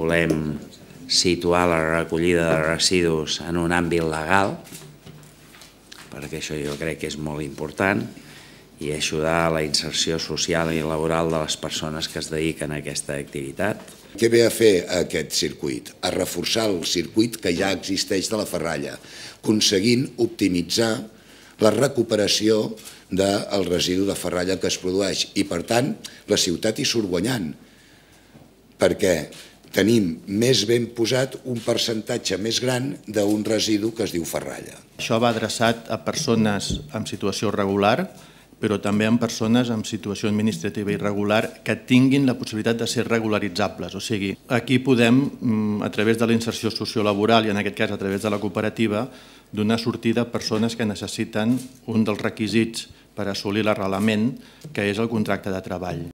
volem situar la recollida de residus en un àmbit legal, perquè això jo crec que és molt important, i ajudar a la inserció social i laboral de les persones que es dediquen a aquesta activitat. Què ve a fer aquest circuit? A reforçar el circuit que ja existeix de la ferralla, aconseguint optimitzar la recuperació del residu de ferralla que es produeix i, per tant, la ciutat hi surt guanyant, perquè tenim més ben posat un percentatge més gran d'un residu que es diu ferralla. Això va adreçat a persones en situació regular, però també en persones en situació administrativa irregular que tinguin la possibilitat de ser regularitzables. O sigui, aquí podem, a través de la inserció sociolaboral i en aquest cas a través de la cooperativa, donar sortida a persones que necessiten un dels requisits per assolir l'arrelament, que és el contracte de treball.